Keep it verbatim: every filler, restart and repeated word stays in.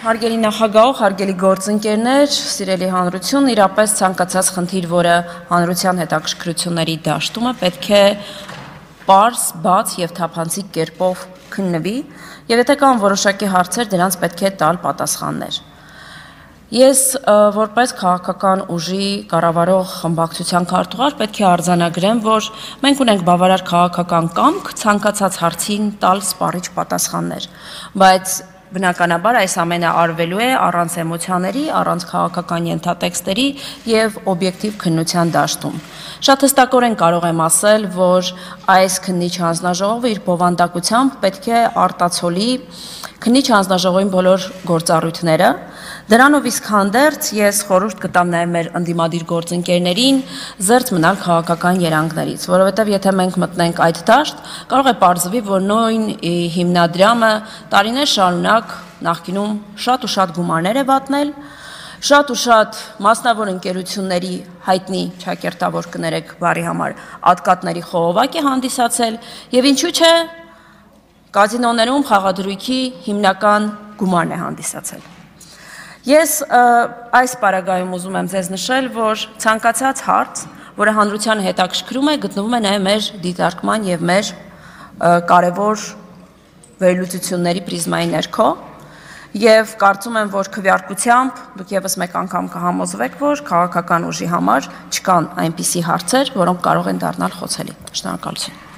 Հարգելի նախագահող, հարգելի գործընկերներ, սիրելի հանրություն, իրապես ցանկացած խնդիր, որը հանրության հետաքրքրությունների դաշտում է, պետք է պարզ, բաց եւ թափանցիկ կերպով քննվի, եւ եթե կան որոշակի հարցեր, դրանց պետք է տալ պատասխաններ։ Ես որպես քաղաքական ուժի կառավարող խմբակցության քարտուղար պետք է արձանագրեմ, որ մենք ունենք բավարար քաղաքական կամք ցանկացած հարցին տալ սպառիչ պատասխաններ, բայց բնականաբար այս ամենը արվելու է առանց էմոցիաների, առանց քաղաքական ենթատեքստերի եւ օբյեկտիվ քննության դաշտում։ Շատ հստակորեն կարող եմ ասել, որ այս քննիչ հանձնաժողովը իր բովանդակությամբ պետք է արտացոլի քննիչ հանձնաժողովին բոլոր գործառույթները։ Դրանով իսկ հանդերձ ես խորհուրդ կտամ նաև մեր ընդդիմադիր գործընկերներին զերծ մնալ քաղաքական երանգներից, որովհետև եթե մենք մտնենք այդ դաշտ, կարող է պարզվի, որ նույն հիմնադրամը տարիներ շարունակ նախկինում շատ ու շատ գումարներ է վատնել, շատ ու շատ մասնավոր ընկերությունների հայտնի ճակերտավոր կներեք բարի համար ատկատների խողովակ է հանդիսացել եւ ինչու՞ չէ կազինոներում խաղադրույքի հիմնական գումարն է հանդիսացել։ Ես այս պարագայում ուզում եմ ձեզ նշել, որ ցանկացած հարց, որը հանրությանը հետաքրքրում է, գտնվում է նաև մեր դիտարկման եւ մեր կարևոր վերլուծությունների պրիզմայի ներքո, եւ կարծում եմ, որ քվեարկությամբ դուք եւս մեկ անգամ կհամոզվեք, որ քաղաքական ուժի համար չկան այնպիսի հարցեր, որոնք կարող են դառնալ խոցելի։ Շնորհակալություն։